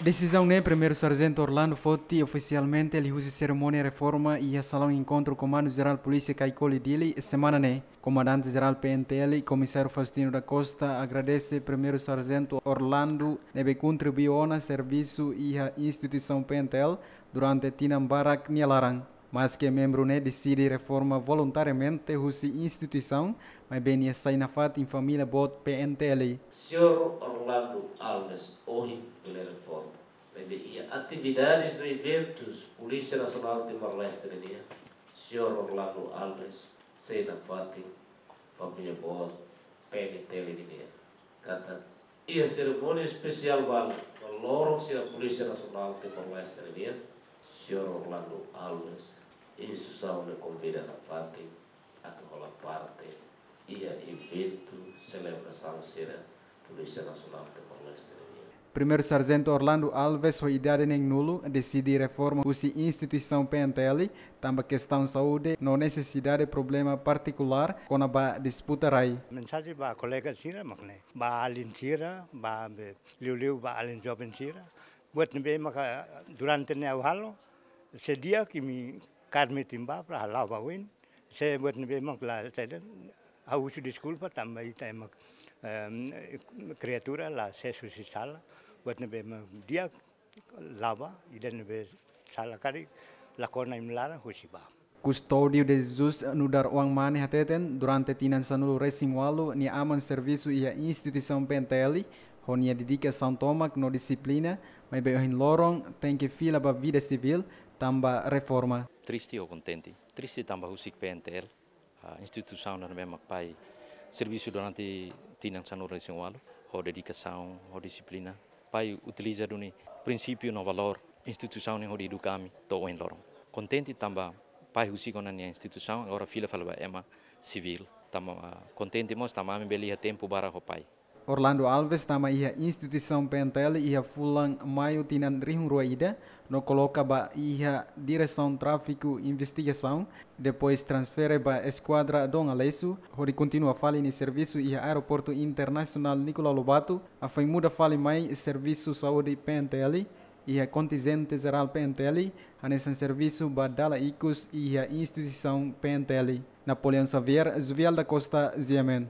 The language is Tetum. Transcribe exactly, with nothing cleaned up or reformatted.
Desizaun ne'e Primeiru Sarjentu Orlando foti ofisialmente liuhusi serimónia reforma iha Salaun Enkontru Komandu Jerál Polísia Kaikoli, Dili, semana ne'e. Komandante Jerál P N T L, Komisáriu Faustino da Costa, agradese Primeiru Sarjentu Orlando ne'ebé kontribui ona servisu iha instituisaun P N T L durante tinan barak nia laran. Maske membru ne'e deside reforma voluntariamente husi instituisaun, maibé nia sai nafatin família boot P N T L. Señór Orlando Alves ohin bele reforma, maibé iha atividades no eventus Polísia Nasionál Timor-Leste nian, Señór Orlando Alves sai nafatin família boot P N T L nian. Katak iha serimónia espesiál balu no loron sira Polísia Nasionál Timor-Leste nian, Señór Orlando Alves, instituisaun ne'e konvida nafatin atu hola parte iha eventu selebrasaun sira Polísia Nasionál Timor-Leste nian. Primeiru Sarjentu Orlando Alves ho idade neenulu deside reforma husi instituisaun P N T L, tanba kestaun saúde no nesesidade problema partikulár kona-ba disputa rai. Mensajen ba kolega sira mak ne'e, ba alin sira, ba be liuliu ba alin joven sira. Buat ne'ebé maka durante ne'e ha'u halo, se di'ak imi kaer metin bá para la'o ba oin. Se buat ne'ebé mak la, se ha'u husu deskulpa tanba ita ema, em, kriatura la sees husi sala. Buat ne'ebé mak di'ak la'o bá, ida ne'ebé sala karik la kona imi laran husi bá. Custódio de Jesus nu'udar oan mane hateten, durante tinan sanulu-resin-ualu nia aman servisu iha instituisaun P N T L, ho nia dedikasaun tomak no dixiplina, maibé ohin loron tenke fila ba vida sivíl tanba reforma. Triste ou kontente? Triste tanba husik P N T L, ah, instituisaun ida ne'ebé mak pai servisu durante tinan sanulu-resin-ualu, ho dedikasaun, ho dixiplina. Pai utiliza duni prinsípiu no valór instituisaun ne'e hodi eduka ami to'o ohin loron. Kontente tanba pai husik ona nia instituisaun, agora fila fali ba ema sivíl. Tanba, ah, kontente mós tanba ami bele iha tempu barak ho pai. Orlando Alves tama iha instituisaun P N T L iha fulan Maiu tinan rihun rua ida, no koloka ba iha Diresaun Tráfiku Investigasaun, depois transfere ba Eskuadra Dom Aleixo, hodi kontinua fali nia servisu iha Aeroportu Internasionál Nicolau Lobato, hafoin muda fali mai servisu saúde P N T L, iha kontinjente jerál P N T L, hanesan servisu ba dala ikus iha instituisaun P N T L. Napoleão Xavier, Juvial da Costa, G M N.